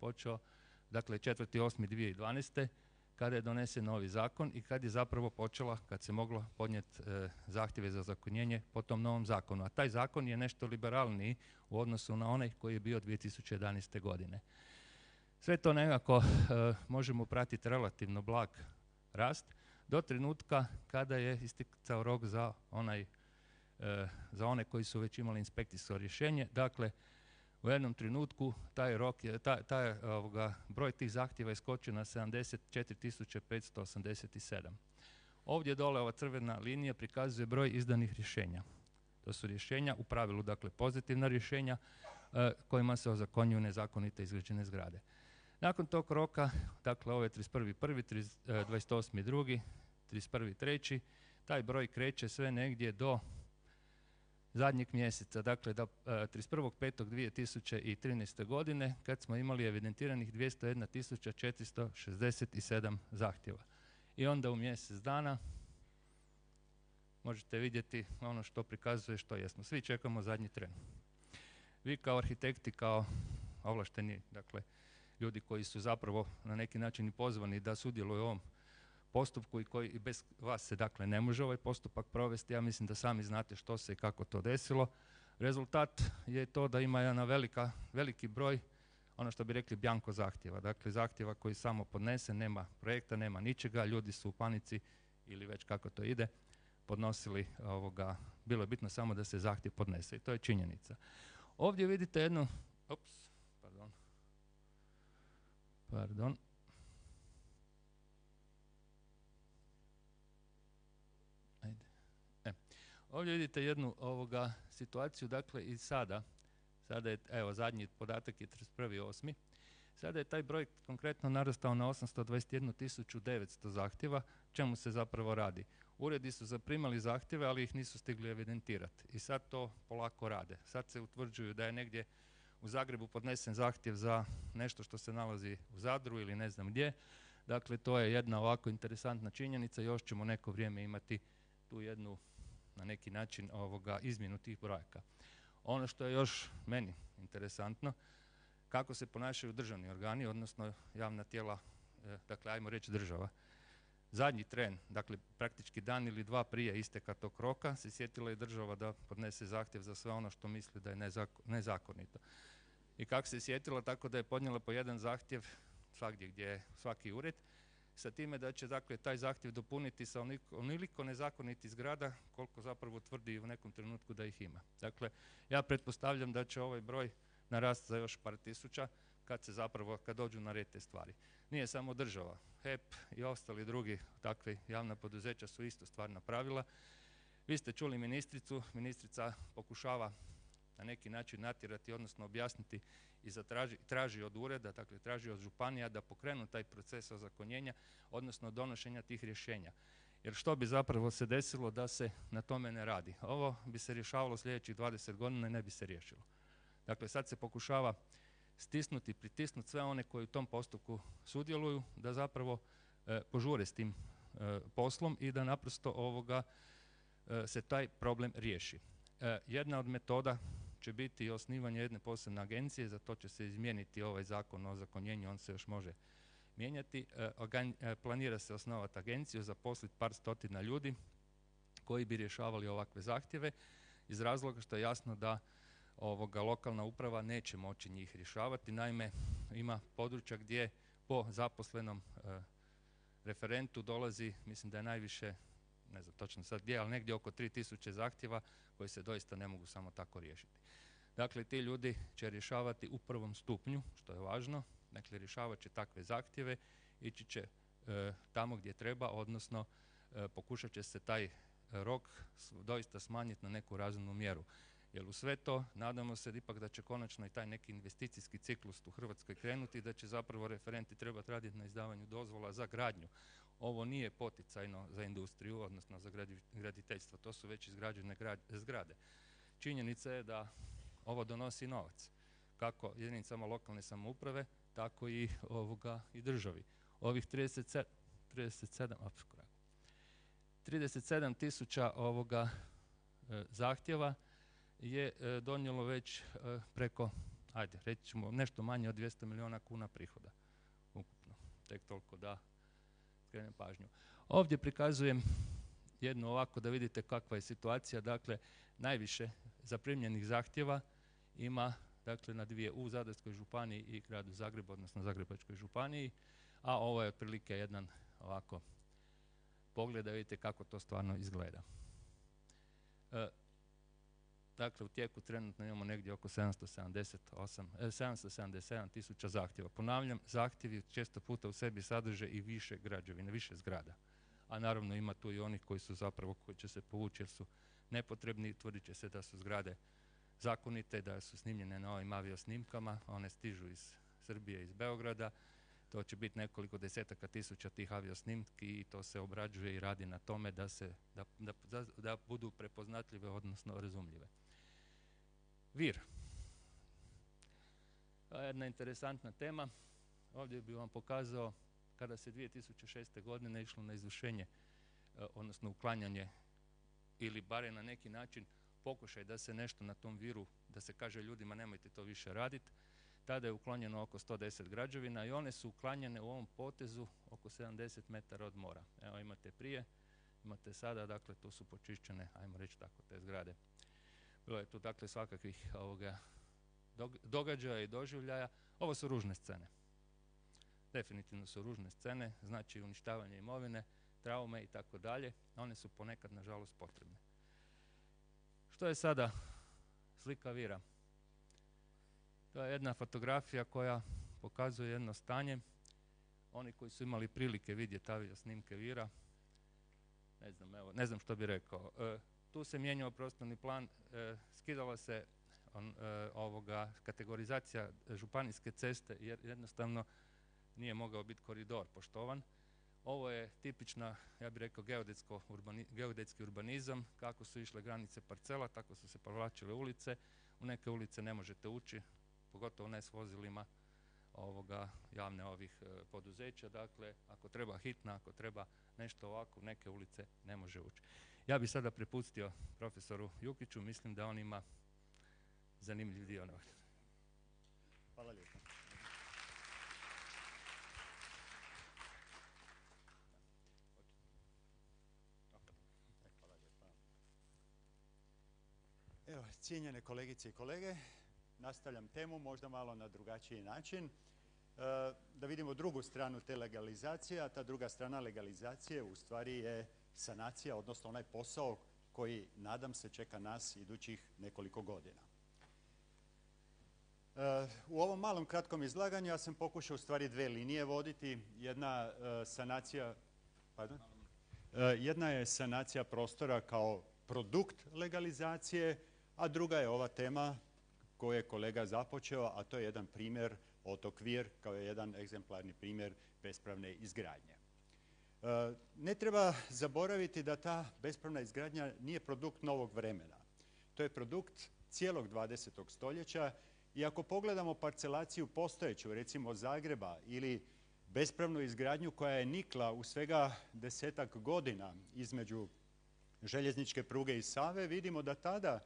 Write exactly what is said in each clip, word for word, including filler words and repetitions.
počeo, dakle četvrti osmi dvije tisuće dvanaeste. kada je donesen novi zakon i kad je zapravo počela, kad se moglo podnijeti e, zahtjeve za ozakonjenje po tom novom zakonu. A taj zakon je nešto liberalniji u odnosu na onaj koji je bio dvije tisuće jedanaeste. godine. Sve to nekako e, možemo pratiti relativno blag rast do trenutka kada je isticao rok za onaj e, za one koji su već imali inspekcijsko rješenje. Dakle, u jednom trenutku taj rok je, taj, taj ovoga, broj tih zahtjeva je skočio na sedamdeset četiri tisuće petsto osamdeset sedam. Ovdje dole ova crvena linija prikazuje broj izdanih rješenja. To su rješenja, u pravilu dakle pozitivna rješenja e, kojima se ozakonjuju nezakonito izgrađene zgrade. Nakon tog roka, dakle ovo je trideset prvi prvi, dvadeset osmi drugi, trideset prvi treći, taj broj kreće sve negdje do zadnjeg mjeseca, dakle do trideset prvog petog dvije tisuće trinaeste. godine, kad smo imali evidentiranih dvjesto jedna tisuća četiristo šezdeset sedam zahtjeva. I onda u mjesec dana možete vidjeti ono što prikazuje što jesmo. Svi čekamo zadnji tren. Vi kao arhitekti, kao ovlašteni, dakle, ljudi koji su zapravo na neki način i pozvani da sudjeluju u ovom postupku i koji i bez vas se dakle ne može ovaj postupak provesti. Ja mislim da sami znate što se i kako to desilo. Rezultat je to da ima jedan velika, veliki broj, ono što bi rekli bjanko zahtjeva. Dakle, zahtjeva koji samo podnese, nema projekta, nema ničega, ljudi su u panici ili već kako to ide, podnosili ovoga, bilo je bitno samo da se zahtjev podnese i to je činjenica. Ovdje vidite jednu, ups, pardon, pardon, E. Ovdje vidite jednu ovoga situaciju, dakle i sada, sada je, evo zadnji podatak je trideset prvi osmi Sada je taj broj konkretno narastao na osamsto dvadeset jednu tisuću devetsto zahtjeva. Čemu se zapravo radi? Uredi su zaprimali zahtjeve, ali ih nisu stigli evidentirati. I sad to polako rade. Sad se utvrđuju da je negdje u Zagrebu podnesen zahtjev za nešto što se nalazi u Zadru ili ne znam gdje. Dakle, to je jedna ovako interesantna činjenica. Još ćemo neko vrijeme imati tu jednu, na neki način, ovoga, izmjenu tih brojaka. Ono što je još meni interesantno, kako se ponašaju državni organi, odnosno javna tijela, e, dakle, ajmo reći država. Zadnji tren, dakle, praktički dan ili dva prije isteka tog roka, se sjetila je država da podnese zahtjev za sve ono što misli da je nezako, nezakonito. I kako se sjetila, tako da je podnijela po jedan zahtjev svagdje gdje je svaki ured, sa time da će, dakle, taj zahtjev dopuniti sa onoliko, onoliko nezakonitih zgrada koliko zapravo tvrdi u nekom trenutku da ih ima. Dakle, ja pretpostavljam da će ovaj broj narasti za još par tisuća kad se zapravo, kad dođu na red te stvari. Nije samo država, H E P i ostali drugi takvi javna poduzeća su isto stvar napravila. Vi ste čuli ministricu, ministrica pokušava na neki način natjerati, odnosno objasniti i zatraži, traži od ureda, dakle traži od županija da pokrenu taj proces ozakonjenja, odnosno donošenja tih rješenja. Jer što bi zapravo se desilo da se na tome ne radi? Ovo bi se rješavalo sljedećih dvadeset godina i ne bi se riješilo. Dakle, sad se pokušava stisnuti, pritisnuti sve one koji u tom postupku sudjeluju, da zapravo e, požure s tim e, poslom i da naprosto ovoga e, se taj problem riješi. E, jedna od metoda će biti osnivanje jedne posebne agencije, za to će se izmijeniti ovaj zakon o ozakonjenju, on se još može mijenjati. E, organ, e, planira se osnovati agenciju, zaposliti par stotina ljudi koji bi rješavali ovakve zahtjeve, iz razloga što je jasno da ovoga lokalna uprava neće moći njih rješavati. Naime, ima područja gdje po zaposlenom e, referentu dolazi, mislim da je najviše, ne znam točno sad gdje, ali negdje oko tri tisuće zahtjeva koji se doista ne mogu samo tako riješiti. Dakle, ti ljudi će rješavati u prvom stupnju, što je važno, dakle rješavat će takve zahtjeve, ići će e, tamo gdje treba, odnosno e, pokušat će se taj rok doista smanjiti na neku razumnu mjeru. Jer u sve to nadamo se ipak da će konačno i taj neki investicijski ciklus u Hrvatskoj krenuti i da će zapravo referenti trebati raditi na izdavanju dozvola za gradnju. Ovo nije poticajno za industriju, odnosno za graditeljstvo, to su već izgrađene zgrade. Činjenica je da ovo donosi novac, kako jedinicama lokalne samouprave, tako i ovoga i državi. Ovih trideset sedam tisuća ovoga e, zahtjeva je e, donijelo već e, preko, ajde, reći ćemo nešto manje od dvjesto milijuna kuna prihoda ukupno. Tek toliko da skrenem pažnju. Ovdje prikazujem jednu ovako da vidite kakva je situacija. Dakle, najviše zaprimljenih zahtjeva ima dakle, na dvije u Zadarskoj županiji i gradu Zagrebu, odnosno Zagrebačkoj županiji, a ovo je otprilike jedan ovako pogled da vidite kako to stvarno izgleda. E, dakle, u tijeku trenutno imamo negdje oko sedamsto sedamdeset osam, eh, sedamsto sedamdeset sedam tisuća zahtjeva. Ponavljam, zahtjevi često puta u sebi sadrže i više građevine, više zgrada. A naravno ima tu i onih koji su zapravo, koji će se povući jer su nepotrebni, tvrdit će se da su zgrade zakonite, da su snimljene na ovim aviosnimkama, one stižu iz Srbije, iz Beograda, to će biti nekoliko desetaka tisuća tih aviosnimki i to se obrađuje i radi na tome da, se, da, da, da budu prepoznatljive, odnosno razumljive. Vir. To je jedna interesantna tema. Ovdje bih vam pokazao kada se dvije tisuće šeste. godine išlo na izvršenje, odnosno uklanjanje ili barem na neki način pokušaj da se nešto na tom viru, da se kaže ljudima nemojte to više raditi. Tada je uklonjeno oko sto deset građevina i one su uklanjene u ovom potezu oko sedamdeset metara od mora. Evo imate prije, imate sada, dakle tu su počišćene, ajmo reći tako, te zgrade. Bilo je tu dakle svakakvih ovoga događaja i doživljaja. Ovo su ružne scene. Definitivno su ružne scene, znači uništavanje imovine, traume i tako dalje. One su ponekad, nažalost, potrebne. Što je sada slika vira? To je jedna fotografija koja pokazuje jedno stanje. Oni koji su imali prilike vidjeti avio snimke vira, ne znam, evo, ne znam što bi rekao. E, tu se mijenjao prostorni plan, e, skidala se on, e, ovoga kategorizacija županijske ceste jer jednostavno nije mogao biti koridor poštovan. Ovo je tipična, ja bih rekao, geodetsko urbani, geodetski urbanizam. Kako su išle granice parcela, tako su se povlačile ulice. U neke ulice ne možete ući, pogotovo ne s vozilima ovoga, javne ovih e, poduzeća. Dakle, ako treba hitna, ako treba nešto ovako, neke ulice ne može ući. Ja bih sada prepustio profesoru Jukiću, mislim da on ima zanimljiv dio. Hvala lijepo. Evo, cijenjene kolegice i kolege, nastavljam temu možda malo na drugačiji način. E, da vidimo drugu stranu te legalizacije, a ta druga strana legalizacije u stvari je sanacija, odnosno onaj posao koji, nadam se, čeka nas idućih nekoliko godina. E, u ovom malom kratkom izlaganju ja sam pokušao u stvari dve linije voditi. Jedna e, sanacija, pardon? E, jedna je sanacija prostora kao produkt legalizacije, a druga je ova tema koju je kolega započeo, a to je jedan primjer, otok Vir, kao jedan egzemplarni primjer bespravne izgradnje. E, ne treba zaboraviti da ta bespravna izgradnja nije produkt novog vremena. To je produkt cijelog dvadesetog stoljeća i ako pogledamo parcelaciju postojeću, recimo Zagreba, ili bespravnu izgradnju koja je nikla u svega desetak godina između željezničke pruge i Save, vidimo da tada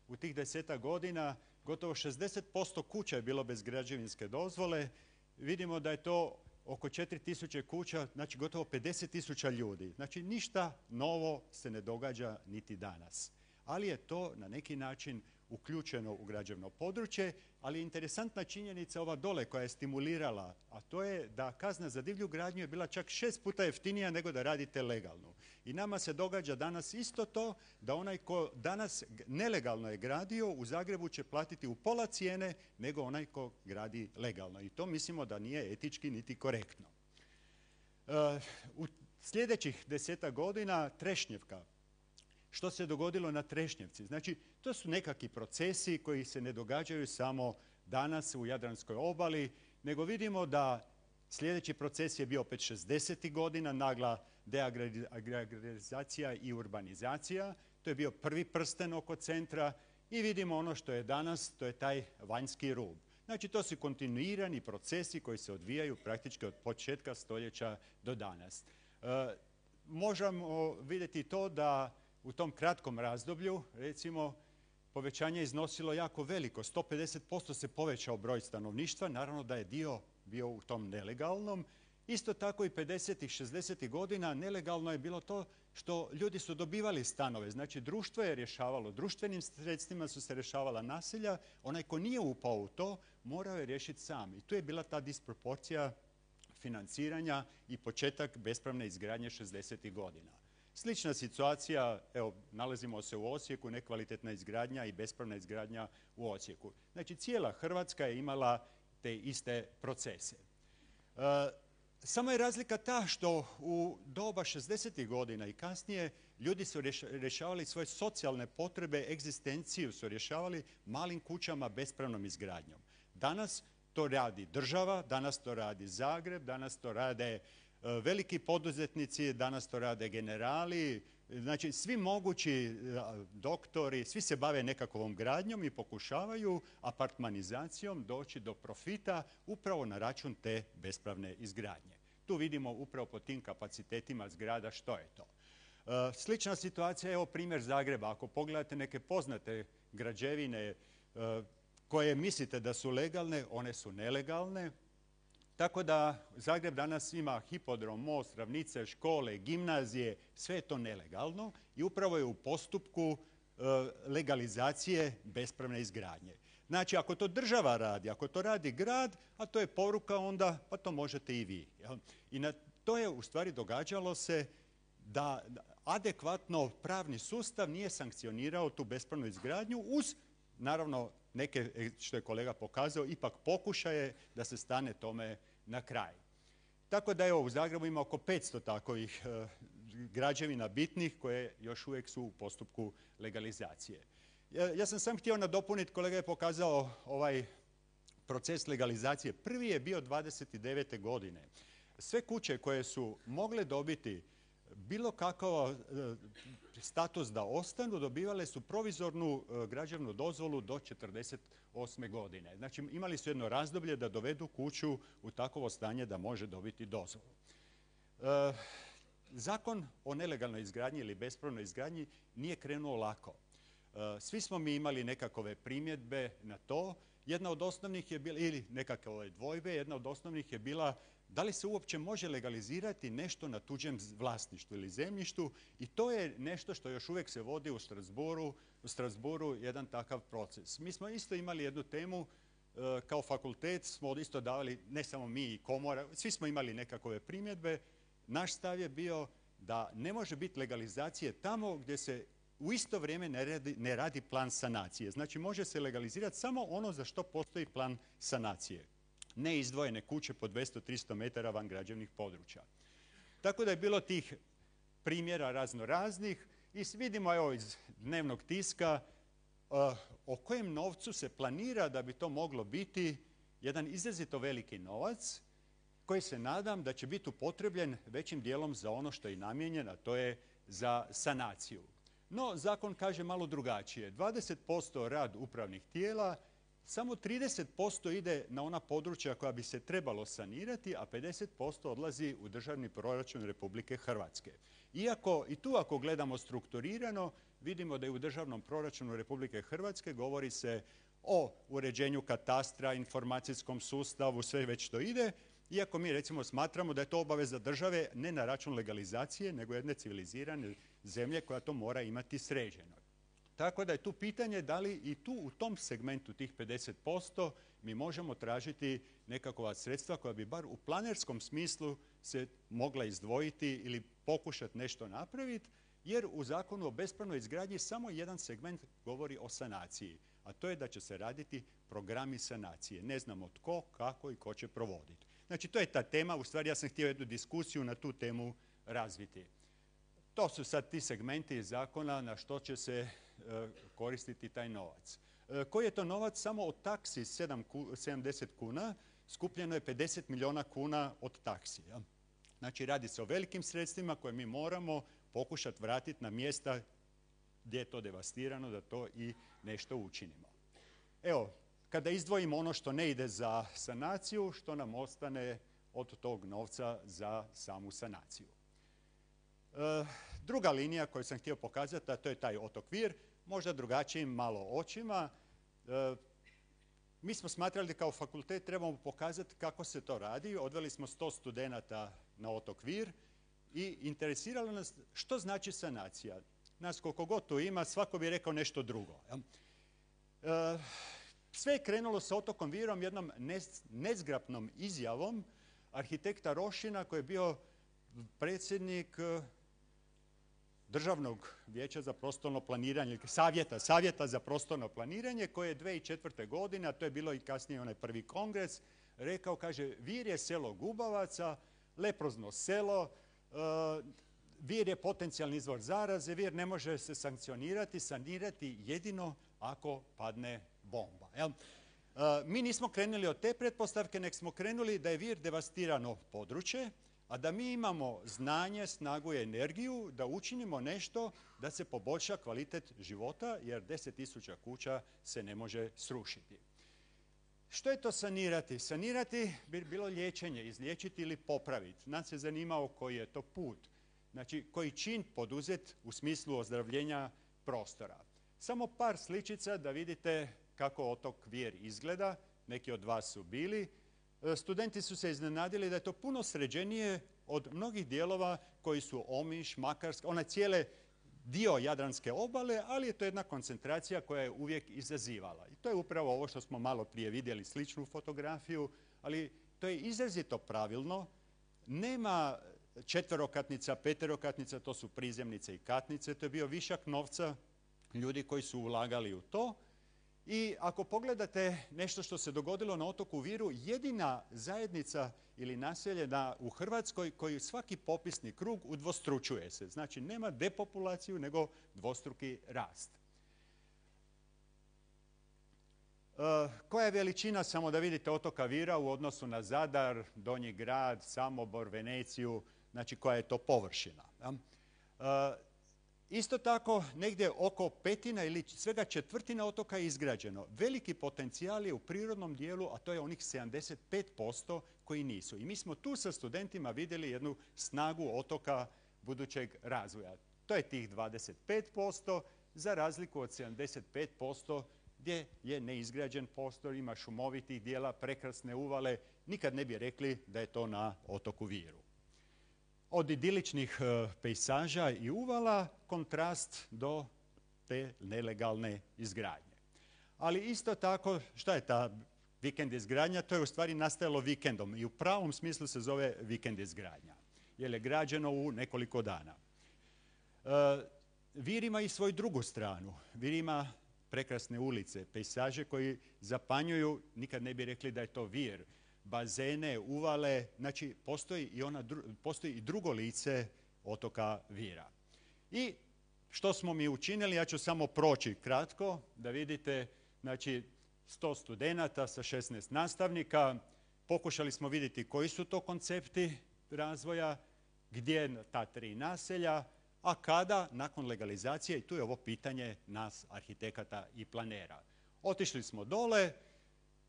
u tih desetak godina gotovo šezdeset posto kuća je bilo bez građevinske dozvole. Vidimo da je to oko četiri tisuće kuća, znači gotovo pedeset tisuća ljudi. Znači ništa novo se ne događa niti danas. Ali je to na neki način uključeno u građevno područje, ali je interesantna činjenica ova dole koja je stimulirala, a to je da kazna za divlju gradnju je bila čak šest puta jeftinija nego da radite legalno. I nama se događa danas isto to, da onaj ko danas nelegalno je gradio u Zagrebu će platiti u pola cijene nego onaj ko gradi legalno. I to mislimo da nije etički niti korektno. Uh, u sljedećih desetak godina Trešnjevka. Što se dogodilo na Trešnjevci? Znači, to su nekakvi procesi koji se ne događaju samo danas u Jadranskoj obali, nego vidimo da sljedeći proces je bio opet šezdesetih godina, nagla deagrarizacija i urbanizacija. To je bio prvi prsten oko centra i vidimo ono što je danas, to je taj vanjski rub. Znači, to su kontinuirani procesi koji se odvijaju praktički od početka stoljeća do danas. E, možemo vidjeti to da u tom kratkom razdoblju, recimo, povećanje je iznosilo jako veliko. sto pedeset posto se povećao broj stanovništva, naravno da je dio bio u tom nelegalnom. Isto tako i pedesetih, šezdesetih godina nelegalno je bilo to što ljudi su dobivali stanove. Znači društvo je rješavalo, društvenim sredstvima su se rješavala naselja. Onaj ko nije upao u to morao je riješiti sam. I tu je bila ta disproporcija financiranja i početak bespravne izgradnje šezdesetih godina. Slična situacija, evo, nalazimo se u Osijeku, nekvalitetna izgradnja i bespravna izgradnja u Osijeku. Znači, cijela Hrvatska je imala te iste procese. E, samo je razlika ta što u doba šezdesetih godina i kasnije ljudi su rješavali svoje socijalne potrebe, egzistenciju su rješavali malim kućama bespravnom izgradnjom. Danas to radi država, danas to radi Zagreb, danas to rade veliki poduzetnici, danas to rade generali, znači svi mogući doktori, svi se bave nekakvom gradnjom i pokušavaju apartmanizacijom doći do profita upravo na račun te bespravne izgradnje. Tu vidimo upravo po tim kapacitetima zgrada što je to. Slična situacija je evo primjer Zagreba. Ako pogledate neke poznate građevine koje mislite da su legalne, one su nelegalne. Tako da Zagreb danas ima hipodrom, most, ravnice, škole, gimnazije, sve je to nelegalno i upravo je u postupku legalizacije bespravne izgradnje. Znači, ako to država radi, ako to radi grad, a to je poruka onda, pa to možete i vi. Jel? I na to je u stvari događalo se da adekvatno pravni sustav nije sankcionirao tu bespravnu izgradnju uz, naravno, neke, što je kolega pokazao, ipak pokušaje da se stane tome na kraj. Tako da evo u Zagrebu ima oko petsto takovih e, građevina bitnih koje još uvijek su u postupku legalizacije. Ja, ja sam sam htio nadopuniti, kolega je pokazao ovaj proces legalizacije. Prvi je bio dvadeset devete godine. Sve kuće koje su mogle dobiti bilo kakav e, status da ostanu, dobivale su provizornu e, građevnu dozvolu do četrdeset osme godine. Znači imali su jedno razdoblje da dovedu kuću u takovo stanje da može dobiti dozvolu. E, zakon o nelegalnoj izgradnji ili bespravnoj izgradnji nije krenuo lako. E, svi smo mi imali nekakve primjedbe na to. Jedna od osnovnih je bila, ili nekakve dvojbe, jedna od osnovnih je bila da li se uopće može legalizirati nešto na tuđem vlasništvu ili zemljištu i to je nešto što još uvijek se vodi u Strasbourgu, u Strasbourgu jedan takav proces. Mi smo isto imali jednu temu, e, kao fakultet smo isto davali, ne samo mi i komora, svi smo imali nekakve primjedbe. Naš stav je bio da ne može biti legalizacije tamo gdje se u isto vrijeme ne radi, ne radi plan sanacije. Znači može se legalizirati samo ono za što postoji plan sanacije. Ne izdvojene kuće po dvjesto do tristo metara van građevnih područja. Tako da je bilo tih primjera razno raznih i vidimo evo iz dnevnog tiska uh, o kojem novcu se planira da bi to moglo biti jedan izrazito veliki novac koji se nadam da će biti upotrebljen većim dijelom za ono što je namijenjen, a to je za sanaciju. No, zakon kaže malo drugačije. dvadeset posto rad upravnih tijela, samo trideset posto ide na ona područja koja bi se trebalo sanirati, a pedeset posto odlazi u državni proračun Republike Hrvatske. Iako i tu ako gledamo strukturirano, vidimo da je u državnom proračunu Republike Hrvatske govori se o uređenju katastra, informacijskom sustavu, sve već to ide, iako mi recimo smatramo da je to obaveza države ne na račun legalizacije, nego jedne civilizirane zemlje koja to mora imati sređeno. Tako da je tu pitanje da li i tu u tom segmentu tih pedeset posto mi možemo tražiti nekakva sredstva koja bi bar u planerskom smislu se mogla izdvojiti ili pokušati nešto napraviti, jer u Zakonu o bespravnoj izgradnji samo jedan segment govori o sanaciji, a to je da će se raditi programi sanacije. Ne znamo tko, kako i ko će provoditi. Znači to je ta tema, u stvari ja sam htio jednu diskusiju na tu temu razviti. To su sad ti segmenti zakona na što će se koristiti taj novac. Koji je to novac? Samo od taksi sedamdeset kuna skupljeno je pedeset milijuna kuna od taksi. Znači radi se o velikim sredstvima koje mi moramo pokušati vratiti na mjesta gdje je to devastirano da to i nešto učinimo. Evo, kada izdvojimo ono što ne ide za sanaciju, što nam ostane od tog novca za samu sanaciju. E, druga linija koju sam htio pokazati, a to je taj otokvir. možda drugačijim malo očima. E, mi smo smatrali da kao fakultet trebamo pokazati kako se to radi. Odveli smo sto studenata na otok Vir i interesiralo nas što znači sanacija. Nas koliko god tu ima, svako bi rekao nešto drugo. E, sve je krenulo sa otokom Virom jednom nezgrapnom izjavom arhitekta Rošina koji je bio predsjednik Državnog vijeća za prostorno planiranje, savjeta, savjeta za prostorno planiranje koje je dvije tisuće četvrte. godine, a to je bilo i kasnije onaj prvi kongres, rekao, kaže, Vir je selo gubavaca, leprozno selo, uh, Vir je potencijalni izvor zaraze, Vir ne može se sankcionirati, sanirati jedino ako padne bomba. Jel? Uh, mi nismo krenuli od te pretpostavke, nek smo krenuli da je Vir devastirano područje, a da mi imamo znanje, snagu i energiju da učinimo nešto da se poboljša kvalitet života, jer deset tisuća kuća se ne može srušiti. Što je to sanirati? Sanirati bi bilo liječenje, izliječiti ili popraviti. Nas je zanimao koji je to put, znači koji čin poduzet u smislu ozdravljenja prostora. Samo par sličica da vidite kako otok Vir izgleda, neki od vas su bili. Studenti su se iznenadili da je to puno sređenije od mnogih dijelova koji su Omiš, Makarska, onaj cijele dio Jadranske obale, ali je to jedna koncentracija koja je uvijek izazivala. I to je upravo ovo što smo malo prije vidjeli, sličnu fotografiju, ali to je izrazito pravilno. Nema četverokatnica, peterokatnica, to su prizemnice i katnice, to je bio višak novca ljudi koji su ulagali u to. I ako pogledate nešto što se dogodilo na otoku Viru, jedina zajednica ili naselje na, u Hrvatskoj koji svaki popisni krug udvostručuje se. Znači nema depopulaciju nego dvostruki rast. E, koja je veličina, samo da vidite, otoka Vira u odnosu na Zadar, Donji grad, Samobor, Veneciju, znači koja je to površina. E, Isto tako, negdje oko petina ili svega četvrtina otoka je izgrađeno. Veliki potencijal je u prirodnom dijelu, a to je onih sedamdeset pet posto koji nisu. I mi smo tu sa studentima vidjeli jednu snagu otoka budućeg razvoja. To je tih dvadeset pet posto za razliku od sedamdeset pet posto gdje je neizgrađen prostor, ima šumovitih dijela, prekrasne uvale. Nikad ne bi rekli da je to na otoku Viru. Od idiličnih pejsaža i uvala kontrast do te nelegalne izgradnje. Ali isto tako, šta je ta vikend izgradnja? To je u stvari nastajalo vikendom i u pravom smislu se zove vikend izgradnja, jer je građeno u nekoliko dana. Vir ima i svoju drugu stranu. Vir ima prekrasne ulice, pejsaže koji zapanjuju, nikad ne bi rekli da je to Vir. Bazene, uvale, znači postoji i, ona, postoji i drugo lice otoka Vira. I što smo mi učinili, ja ću samo proći kratko da vidite, znači sto studenata sa šesnaest nastavnika, pokušali smo vidjeti koji su to koncepti razvoja, gdje ta tri naselja, a kada nakon legalizacije, i tu je ovo pitanje nas arhitekata i planera. Otišli smo dole,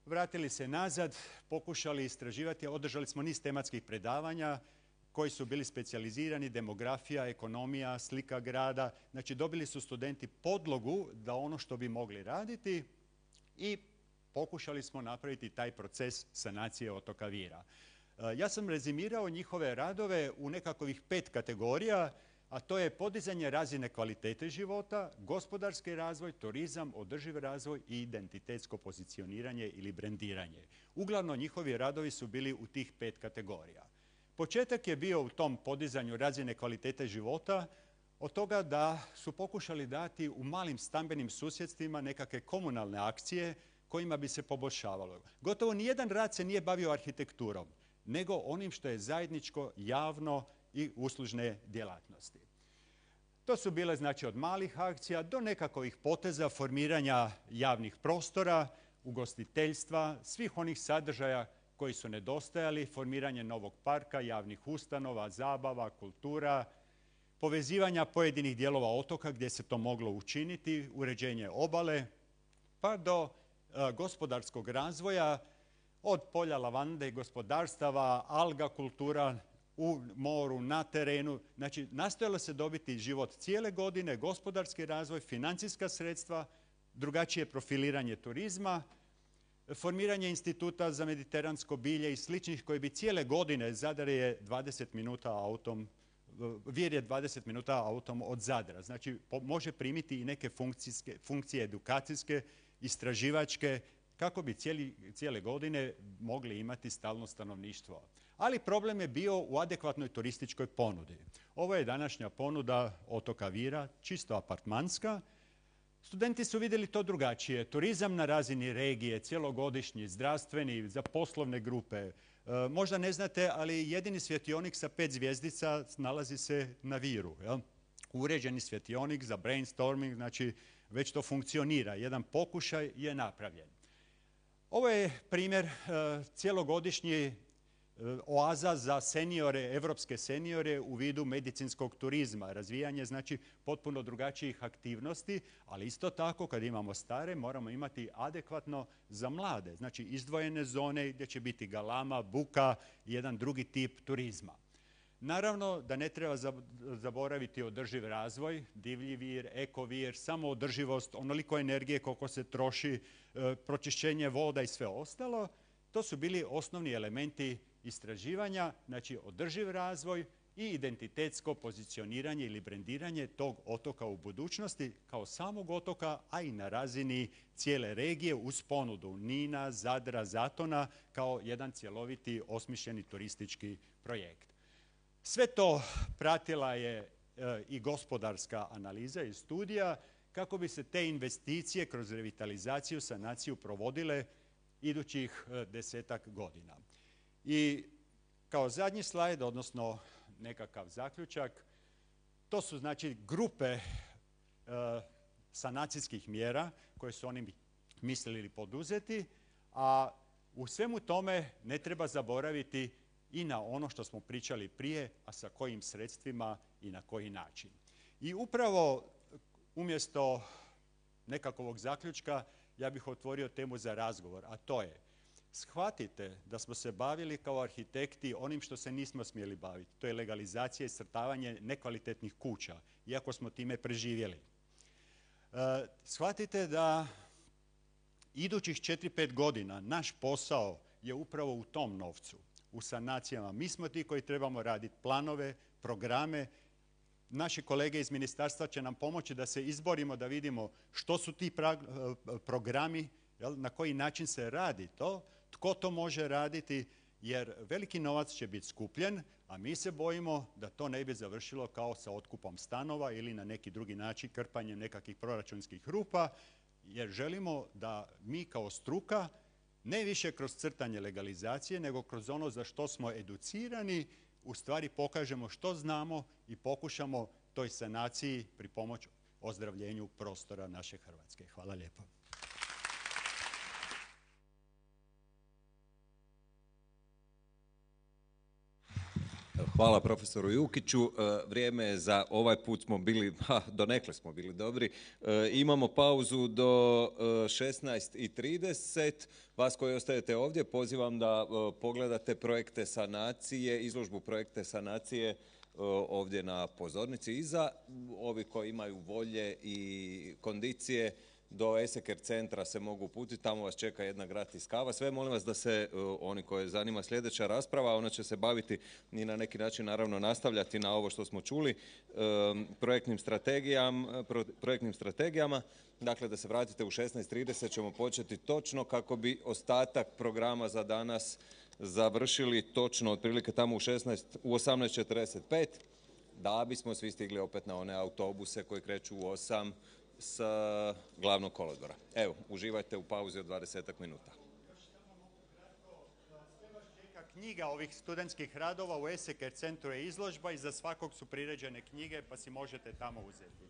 vratili se nazad, pokušali istraživati, održali smo niz tematskih predavanja koji su bili specijalizirani, demografija, ekonomija, slika grada. Znači dobili su studenti podlogu da ono što bi mogli raditi i pokušali smo napraviti taj proces sanacije otoka Vira. Ja sam rezimirao njihove radove u nekakvih pet kategorija, a to je podizanje razine kvalitete života, gospodarski razvoj, turizam, održiv razvoj i identitetsko pozicioniranje ili brendiranje. Uglavnom njihovi radovi su bili u tih pet kategorija. Početak je bio u tom podizanju razine kvalitete života, od toga da su pokušali dati u malim stambenim susjedstvima nekakve komunalne akcije kojima bi se poboljšavalo. Gotovo nijedan rad se nije bavio arhitekturom, nego onim što je zajedničko, javno i uslužne djelatnosti. To su bile znači od malih akcija do nekakvih poteza formiranja javnih prostora, ugostiteljstva, svih onih sadržaja koji su nedostajali, formiranje novog parka, javnih ustanova, zabava, kultura, povezivanja pojedinih dijelova otoka gdje se to moglo učiniti, uređenje obale, pa do e, gospodarskog razvoja od polja lavande, gospodarstava, alga kultura, u moru, na terenu. Znači, nastojalo se dobiti život cijele godine, gospodarski razvoj, financijska sredstva, drugačije profiliranje turizma, formiranje instituta za mediteransko bilje i sličnih koji bi cijele godine, Zadar je dvadeset minuta autom, Vir je dvadeset minuta autom od Zadra. Znači, može primiti i neke funkcije edukacijske, istraživačke, kako bi cijeli, cijele godine mogli imati stalno stanovništvo. Ali problem je bio u adekvatnoj turističkoj ponudi. Ovo je današnja ponuda otoka Vira, čisto apartmanska. Studenti su vidjeli to drugačije. Turizam na razini regije, cjelogodišnji, zdravstveni, za poslovne grupe. E, možda ne znate, ali jedini svjetionik sa pet zvjezdica nalazi se na Viru. Jel? Uređeni svjetionik za brainstorming, znači već to funkcionira. Jedan pokušaj je napravljen. Ovo je primjer e, cjelogodišnji oaza za seniore, evropske seniore u vidu medicinskog turizma. Razvijanje znači potpuno drugačijih aktivnosti, ali isto tako kad imamo stare moramo imati adekvatno za mlade. Znači izdvojene zone gdje će biti galama, buka i jedan drugi tip turizma. Naravno da ne treba zaboraviti održiv razvoj, divlji vir, ekovir, samoodrživost, onoliko energije koliko se troši, pročišćenje voda i sve ostalo. To su bili osnovni elementi istraživanja, znači održiv razvoj i identitetsko pozicioniranje ili brendiranje tog otoka u budućnosti kao samog otoka, a i na razini cijele regije uz ponudu Nina, Zadra, Zatona kao jedan cjeloviti osmišljeni turistički projekt. Sve to pratila je e, i gospodarska analiza i studija kako bi se te investicije kroz revitalizaciju, sanaciju provodile idućih e, desetak godina. I kao zadnji slajd, odnosno nekakav zaključak, to su znači grupe e, sanacijskih mjera koje su oni mislili poduzeti, a u svemu tome ne treba zaboraviti i na ono što smo pričali prije, a sa kojim sredstvima i na koji način. I upravo umjesto nekakvog zaključka ja bih otvorio temu za razgovor, a to je shvatite da smo se bavili kao arhitekti onim što se nismo smjeli baviti. To je legalizacija i iscrtavanje nekvalitetnih kuća, iako smo time preživjeli. E, shvatite da idućih četiri pet godina naš posao je upravo u tom novcu, u sanacijama. Mi smo ti koji trebamo raditi planove, programe. Naši kolege iz ministarstva će nam pomoći da se izborimo, da vidimo što su ti programi, jel, na koji način se radi to, tko to može raditi, jer veliki novac će biti skupljen, a mi se bojimo da to ne bi završilo kao sa otkupom stanova ili na neki drugi način krpanjem nekakvih proračunskih rupa, jer želimo da mi kao struka ne više kroz crtanje legalizacije, nego kroz ono za što smo educirani, u stvari pokažemo što znamo i pokušamo toj sanaciji pripomoći ozdravljenju prostora naše Hrvatske. Hvala lijepo. Hvala profesoru Jukiću. Vrijeme je za ovaj put smo bili, ha, donekle smo bili dobri. Imamo pauzu do šesnaest i trideset. Vas koji ostajete ovdje pozivam da pogledate projekte sanacije, izložbu projekte sanacije ovdje na pozornici iza. Ovi koji imaju volje i kondicije do Eseker centra se mogu uputiti, tamo vas čeka jedna gratis kava. Sve molim vas da se, oni koje zanima sljedeća rasprava, ona će se baviti i na neki način naravno nastavljati na ovo što smo čuli, projektnim strategijama, projektnim strategijama. Dakle, da se vratite u šesnaest trideset ćemo početi točno kako bi ostatak programa za danas završili točno otprilike tamo u, šesnaest, u osamnaest četrdeset pet, da bismo svi stigli opet na one autobuse koji kreću u osam sa glavnog kolodvora. Evo, uživajte u pauzi od dvadesetak minuta. Sve vas čeka knjiga ovih studentskih radova, u Eseker centru je izložba i za svakog su priređene knjige pa si možete tamo uzeti.